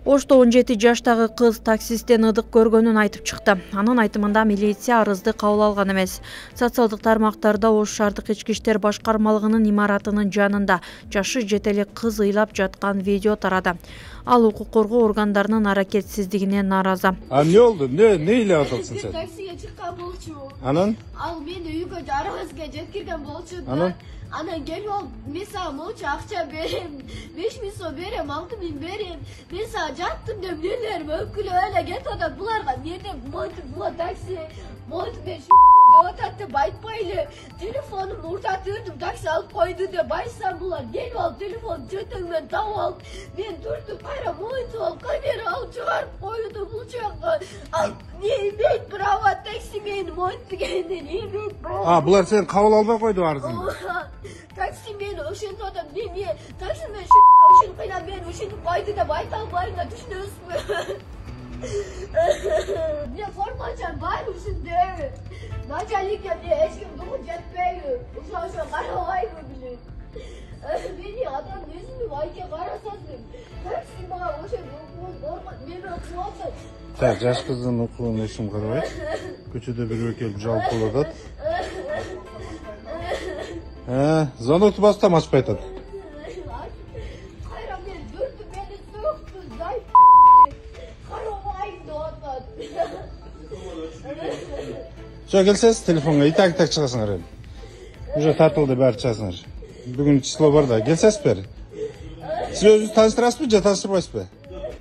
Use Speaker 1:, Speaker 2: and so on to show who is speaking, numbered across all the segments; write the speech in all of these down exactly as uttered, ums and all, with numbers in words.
Speaker 1: Ошто он жети жаштагы кыз таксисттен ыдык көргөнүн айтып чыкты. Анын айтымында милиция арызды кабыл алган эмес. Социалдык тармактарда Ош шаардык ички иштер башкармалыгынын имаратынын жанында жашы жете элек кыз ыйлап жаткан видео тарады. Ал укук коргоо органдарынын аракетсиздигине нааразы.
Speaker 2: А эмне болду? Не не ыйлап атасың сен?
Speaker 3: Таксиге чыккан болчу.
Speaker 2: Анан?
Speaker 3: Ал мени үйгө жарыбызга жеткирген болчу.
Speaker 2: Анан?
Speaker 3: Анан келип алып, мен сага молчу акча берем, беш миң сом берем, алты миң берем. Мен сага жаттым деп нелерим өкүлүп эле кетип атат. Буларга эмне монтип була такси, монтип мен деп атат деп айтпайлы. Телефонумду уртатырдым, такси алып койду деп айтсам, булар келип алып телефон чөтөгүмөн таап алып, мен түртүп кайра монтип алып, камера алып чыгарып койду бул жакка. Ал не имеет права такси мени монтигенин, не имеет права.
Speaker 2: А, булар сени кабыл албай койду арызыңды.
Speaker 3: Такси мени ошентип атат, мен мен такси мен ушинтип кыйнап мени ушинтип койду деп айта албайм да, түшүнөсүзбү? Мен формачам бар ушундай. Начальникке эч ким дугу жетпейби? Ошо ошо карабайбы билет. Мени адам өзүнүн айке карасасың. Такси мага ошо мени окуп атат.
Speaker 2: Так, жаш кыздын окугун эчим карабайт. Көчөдө бирөө келип жалп кылып атат. Э, звонокты бастам ачпай атат.
Speaker 3: Кайра мен дүртүп мени сөктү, зай. Карабайм деп атат.
Speaker 2: Жо келсеңиз телефонго итак итак чыгасыңар эми. Уже тартылды баары чыгасыңар. Бүгүн число бар да, келсеңиз бери. Сиз өзүңүз тааныштырасызбы же тааныштырбайсызбы?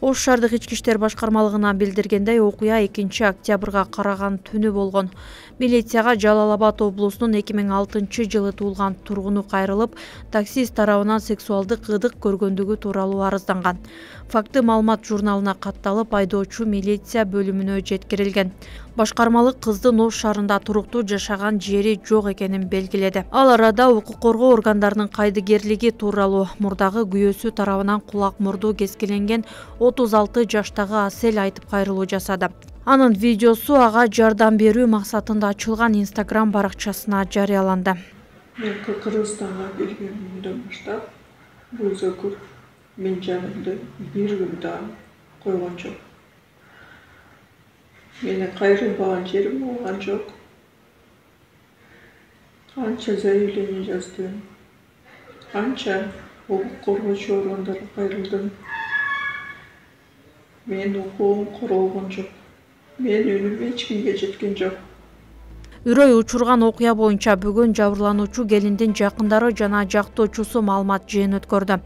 Speaker 1: Ош шаардык ички иштер башкармалыгына билдиргендей, окуя экинчи октябрга караган түнү болгон. Милицияга Жалал Абад облусунун эки миң алтынчы жылы туулган тургуну кайрылып, таксист тарабынан сексуалдык ыдык көргөндүгү тууралуу арызданган. Факты маалымат журналына катталып, айдоочу милиция бөлүмүнө жеткирилген. Башкармалык кыздын Ош шаарында туруктуу жашаган жери жок экенин белгиледи. Ал арада укук коргоо органдарынын кайдыгерлиги тууралуу мурдагы күйөөсү тарабынан кулак мурду кескиленген отуз алты жаштагы Асель айтып кайрылуу жасады. Анын видеосу ага жардам берүү максатында ачылган Instagram баракчасына жарыяланды.
Speaker 4: Мен Кыргызстанга келгенимден баштап бул зөкүр мен жанымды бир күн да койгон жок. Менин кайрылбаган жерим болгон жок. Канча заявление жаздым, канча укук коргоочу органдарга кайрылдым. Мен укугум корголгон жок. Мен үнүм эч кимге жеткен жок.
Speaker 1: Үрөй учурган окуя боюнча бүгүн жабырлануучу келиндин жакындары жана жактоочусу маалымат жыйын өткөрдү.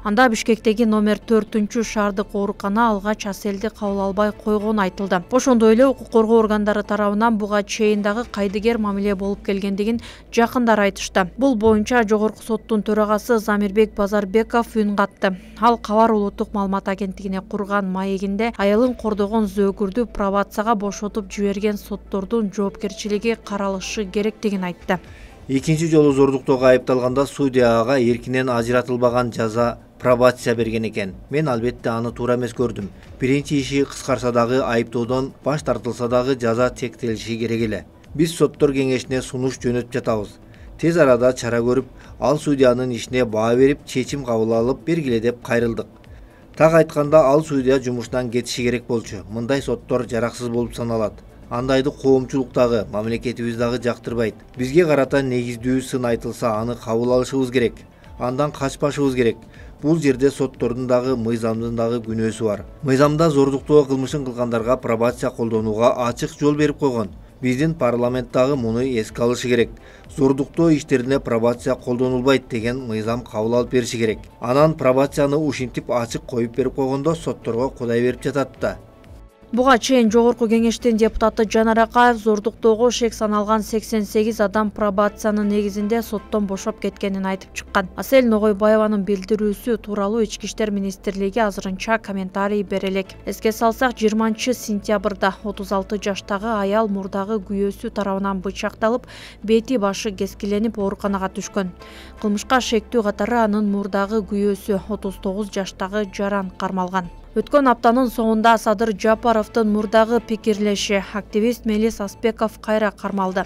Speaker 1: Анда Бишкектеги номер төртүнчү шаардык оорукана алгач Аселди кабыл албай койгону айтылды. Ошондой эле укук коргоо органдары тарабынан буга чейин дагы кайдыгер мамиле болуп келгендигин жакындары айтышты. Бул боюнча Жогорку соттун төрагасы Замирбек Базарбеков үн катты. Ал Кабар улуттук маалымат агенттигине курган маегинде аялын кордогон зөөкүрдү пробацияга бошотуп жиберген соттордун жоопкерчилиги каралышы керектигин айтты.
Speaker 5: Экинчи жолу зордуктоого айыпталганда судья ага эркинен ажыратылбаган жаза пробация берген экен. Мен албетте аны туура эмес көрдүм. Биринчи иши кыскарса дагы, айыптоодон баш тартылса дагы жаза чектелиши керек эле. Биз соттор кеңешине сунуш жөнөтүп жатабыз. Тез арада чара көрүп, ал судьянын ишине баа берип, чечим кабыл алып бергиле деп кайрылдык. Так айтканда, ал судья жумуштан кетиши керек болчу. Мындай соттор жараксыз болуп саналат. Андайды коомчулук дагы, мамлекетибиз дагы жактырбайт. Бизге карата негиздүү сын айтылса, аны кабыл алышыбыз керек. Андан качпашыбыз керек. Бул жерде соттордун дагы, мыйзамдын дагы күнөөсү бар. Мыйзамда зордуктоо кылмышын кылгандарга пробация колдонууга ачык жол берип койгон. Биздин парламент дагы муну эске алышы керек. Зордуктоо иштерине пробация колдонулбайт деген мыйзам кабыл алып бериши керек. Анан пробацияны ушинтип ачык коюп берип койгондо сотторго кудай берип жатат да.
Speaker 1: Буга чейин Жогорку кеңештин депутаты Жанар Акаев зордуктоого шек саналган сексен сегиз адам пробациянын негизинде соттон бошоп кеткенин айтып чыккан. Асель Ногойбаеванын билдирүүсү тууралуу Ички иштер министрлиги азырынча комментарий бере элек. Эске салсак, жыйырманчы сентябрда отуз алты жаштагы аял мурдагы күйөөсү тарабынан бычакталып, бети башы кескиленип ооруканага түшкөн. Кылмышка шектүү катары анын мурдагы күйөөсү отуз тогуз жаштагы Жаран кармалган. Өткөн аптанын соңунда Садыр Жапаровдун мурдагы пикирлеши активист Мелис Аспеков кайра кармалды.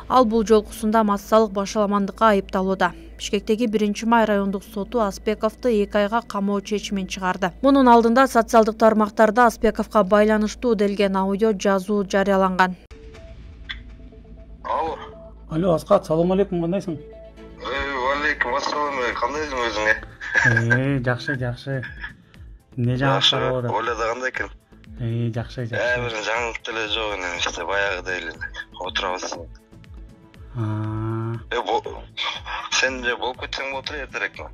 Speaker 1: Ал бул жолкусунда массалык башаламандыкка айыпталууда. Бишкектеги биринчи май райондук соту Аспековду эки айга камоо чечимин чыгарды. Мунун алдында социалдык тармактарда Аспековго байланыштуу делген аудио жазуу жарыяланган.
Speaker 6: Алло.
Speaker 7: Алло, Аскат, салам алейкум, кандайсың?
Speaker 6: Алейкум ассалам, кандайсың өзүң?
Speaker 7: Э, жакшы, жакшы. Не жаңылыктар болот?
Speaker 6: Ойлоду кандай экен?
Speaker 7: Э, жакшы, жакшы.
Speaker 6: Э, бир жаңылык деле жок эне, иште баягыдай эле отурабыз.
Speaker 7: Аа.
Speaker 6: Э, сен же болуп кетсең болот эле эртерекми?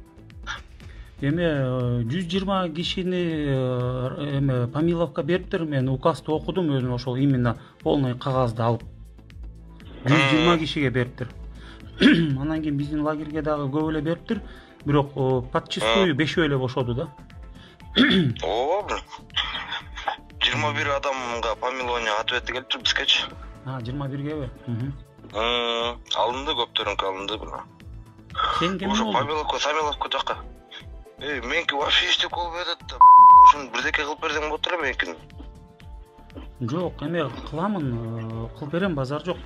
Speaker 7: Эме жүз жыйырма кишини эме Помиловка бериптир, мен указды окудум өзүм, ошол именно полный кагазды алып. жүз жыйырма кишиге бериптир. Анан кийин биздин лагерге дагы көп эле бериптир, бирок подчистую бешөө эле бошоду да.
Speaker 6: Ооба. жыйырма бир адамга помилование ответи келиптир бизгечи.
Speaker 7: А, жыйырма биргеби?
Speaker 6: Алынды, көптөрүнкү алынды.
Speaker 7: Сен кем
Speaker 6: болдуң?
Speaker 7: болдуң?
Speaker 6: Помиловка, Самиловка жакка. Эй, меники вообще иштеп болбой атат да. Ушуну бирдеке кылып берсең болот эле меникин.
Speaker 7: Жок, эме кыламын, кылып берем, базар жок.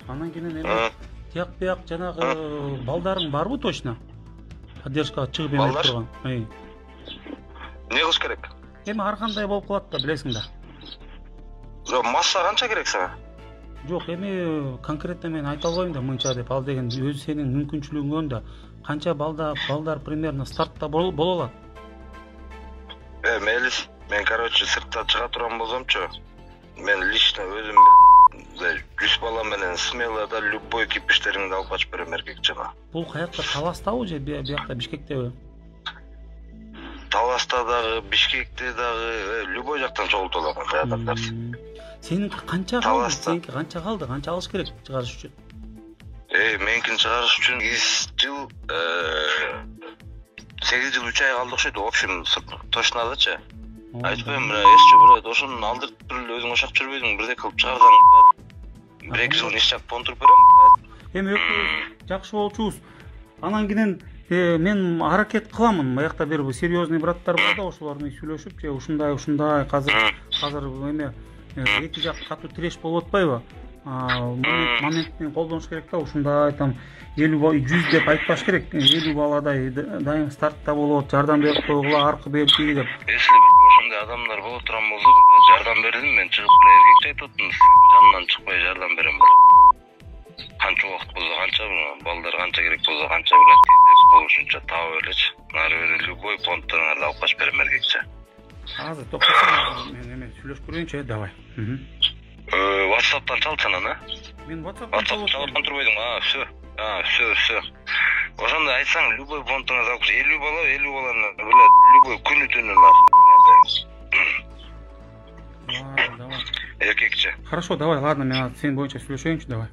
Speaker 7: Анан кийин эме тияк бияк жанагы балдарың барбы точно? Поддержкага чыгып эме турган.
Speaker 6: Не кылыш керек?
Speaker 7: Эми ар кандай болуп калат да, билесиң да.
Speaker 6: Жок, масса канча керек сага?
Speaker 7: Жок, эми конкретно мен айта албайм да мынча деп, ал деген өзү сенин мүмкүнчүлүгүң да. Канча балда балдар примерно стартта боло алат?
Speaker 6: Э, Мелис, мен короче сыртта чыга турган болсомчу, мен лично өзүм жүз бала менен смело да любой кипиштериңди алып качып берем эркекчене.
Speaker 7: Бул каякта, Таластабы же биякта Бишкектеби?
Speaker 6: Таласта дагы, Бишкекте дагы, любой жактан чогултулат каякта.
Speaker 7: Сеники канча калды? Сеники канча калды? Канча алыш керек чыгарыш үчүн?
Speaker 6: Э, меникин чыгарыш үчүн сегиз жыл, сегиз жыл үч ай калды окшойт. В общем, точнодачы. Айтпайм, эсче бурайт, ошонун алдыртып эле өзүң ошак жүрбөйдүң, бирдек кылып чыгарсаң, бир эки жыл иш жак контуруп берем.
Speaker 7: Эми жакшы болчубуз. Анан кийин мен аракет кыламын. Аякта бир серьезный браттар бар да, ошолор менен сүйлөшүп, же ушундай, ушундай, азыр азыр эме эки жак катуу тиреш болуп атпайбы? Моментин колдонуш керек да, ушундай там элүү жүз деп айтпаш керек. элүү баладай дайым стартта болот, жардам берип койгула, аркы берки деп.
Speaker 6: Если ошондой адамдар боло турган болсо, жардам бердим, мен чыгып эле эркекче айтып атам, жанынан чыкпай жардам берем. Канча убакыт болсо, канча балдар канча керек болсо, канча болушунча таап элечи. Нары бери любой понттарыңарды алып качып берем эркекче.
Speaker 7: Азыр токтосоң, мен эме сүйлөшүп көрөйүнчү, давай.
Speaker 6: WhatsApp'тан чалсаң аны.
Speaker 7: Мен WhatsApp'тан
Speaker 6: чалып турбойдуң. А, всё. А, всё, всё. Ошондой айтсаң, любой понтуңа алып, элүү бала, элүү баланы, билет, любой күнү түнү нахуй.
Speaker 7: Давай.
Speaker 6: Эркекче.
Speaker 7: Хорошо, давай, ладно, мен сен боюнча сүйлөшөйүнчү, давай.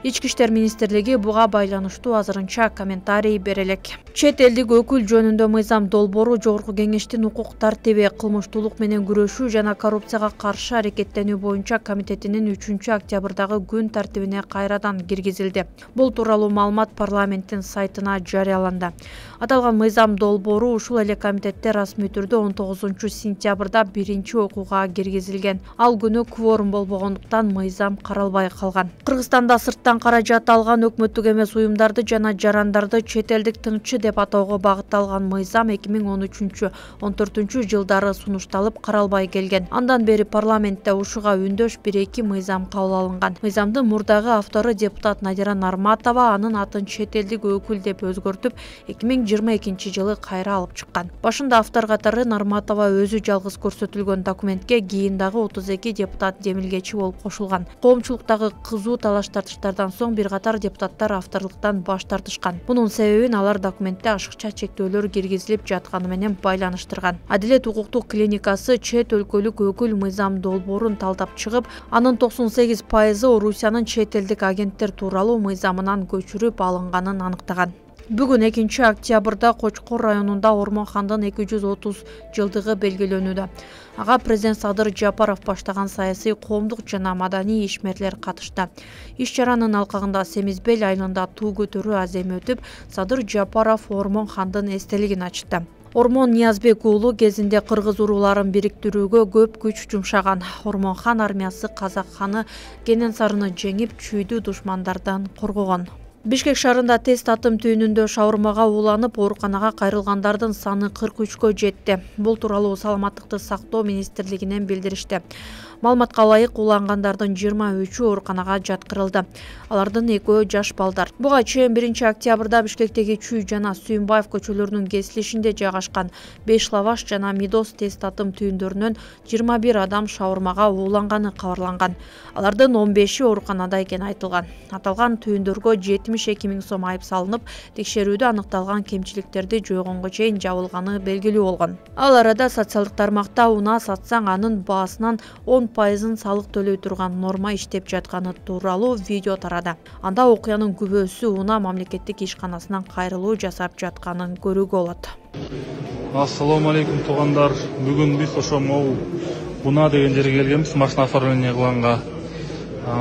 Speaker 1: Ички иштер министрлиги буга байланыштуу азырынча комментарий бере элек. Чет элдик өкүл жөнүндө Мыйзам Долбоору Жогорку Кеңештин укук тартиби, кылмыштуулук менен күрөшүү жана коррупцияга каршы аракеттенүү боюнча комитетинин үчүнчү октябрдагы күн тартибине кайрадан киргизилди. Бул тууралуу маалымат парламенттин сайтына жарыяланды. Аталган Мыйзам Долбоору ушул эле комитетте расмий түрдө он тогузунчу сентябрда биринчи окууга киргизилген. Ал күнү кворум болбогондуктан мыйзам каралбай калган. Кыргызстанда сырттан каражат алган өкмөттүк эмес уюмдарды жана жарандарды чет элдик тыңчы деп атоого багытталган мыйзам эки миң он үчүнчү он төртүнчү жылдары сунушталып каралбай келген. Андан бери парламентте ушуга үндөш бир эки мыйзам кабыл алынган. Мыйзамдын мурдагы автору депутат Надира Нарматова анын атын чет элдик өкүл деп өзгөртүп эки миң жыйырма экинчи жылы кайра алып чыккан. Башында автор катары Нарматова өзү жалгыз көрсөтүлгөн документке кийин дагы отуз эки депутат демилгечи болуп кошулган. Коомчулуктагы кызуу талаш тартыштардан соң бир катар депутаттар авторлуктан баш тартышкан. Мунун себебин алар документте ашыкча чектөөлөр киргизилип жатканы менен байланыштырган. Адилет укуктук клиникасы чет өлкөлүк өкүл Мыйзам Долбоорун талдап чыгып, анын токсон сегиз пайызы Орусиянын чет элдик агенттер тууралуу мыйзамынан көчүрүп алынганын аныктаган. Бүгүн экинчи октябрда Кочкор районунда Ормон хандын эки жүз отуз жылдыгы белгилөнүүдө. Ага президент Садыр Жапаров баштаган саясий, коомдук жана маданий ишмерлер катышты. Иш чаранын алкагында Семизбел айылында туу көтөрүү аземи өтүп, Садыр Жапаров Ормон хандын эстелигин ачты. Ормон Ниязбек уулу кезинде кыргыз урууларын бириктирүүгө көп күч жумшаган. Ормон-хан армиясы Казак ханы Кененсарыны жеңип, чүйдүү душмандардан коргогон. Бишкек шаарында тест атым түйүнүндө шаурмага ууланып, ооруканага кайрылгандардын саны кырк үчкө жетти. Бул тууралуу Саламаттыкты сактоо министрлигинен билдиришти. Маалыматка ылайык, уулангандардын жыйырма үчү ооруканага жаткырылды. Алардын экөө жаш балдар. Буга чейин биринчи октябрда Бишкектеги Чүй жана Сүйүнбаев көчөлөрүнүн кесилишинде жайгашкан Беш Лаваш жана Мидос тест атым түйүндөрүнөн жыйырма бир адам шаурмага ууланганы кабарланган. Алардын он беши ооруканада экени айтылган. Аталган түйүндөргө жетимиш эки миң сом айып салынып, текшерүүдө аныкталган кемчиликтерди жойгонго чейин жабылганы белгилүү болгон. Ал арада социалдык тармакта унаа сатсаң анын баасынан он пайызын салык төлөй турган норма иштеп жатканы тууралуу видео тарады. Анда окуянын күбөсү унаа мамлекеттик ишканасынан кайрылуу жасап жатканын көрүүгө болот.
Speaker 8: Ассаламу алейкум туугандар. Бүгүн биз ошо могу унаа деген жерге келгенбиз, машина оформление кылганга.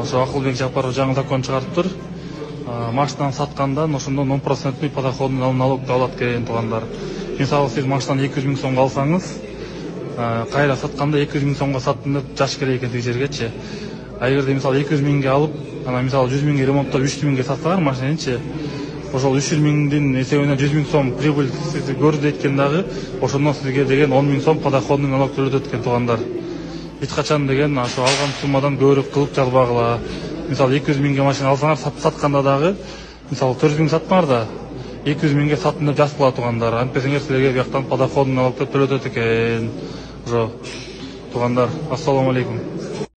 Speaker 8: Ошо Акылбек Жапаров жаңы закон чыгарыптыр. Машинаны саткандан ошондон он проценттүү подоходный налогду алат экен туугандар. Мисалы сиз машинаны эки жүз миң сомго алсаңыз, кайра сатканда эки жүз миң сомго саттым деп жаш керек экен тиги жергечи. А эгерде мисалы эки жүз миңге алып, анан мисалы жүз миңге ремонттоп үч жүз миңге сатсаңар машинанычы, ошол үч жүз миңдин эсебинен жүз миң сом прибыль көрсөтөт экен дагы, ошондон сизге деген он миң сом подоходный налог төлөтөт экен туугандар. Эч качан деген ошо алган суммадан көбүрөөк кылып жазбагыла. Мисалы эки жүз миңге машина алсаңар, сатканда дагы, мисалы төрт жүз миң сатмаңар да, эки жүз миңге саттым деп жазып кала туугандар. Антпесеңер силерге бияктан подоходный налог төлөтөт экен. Ошо туугандар, ассаламу алейкум.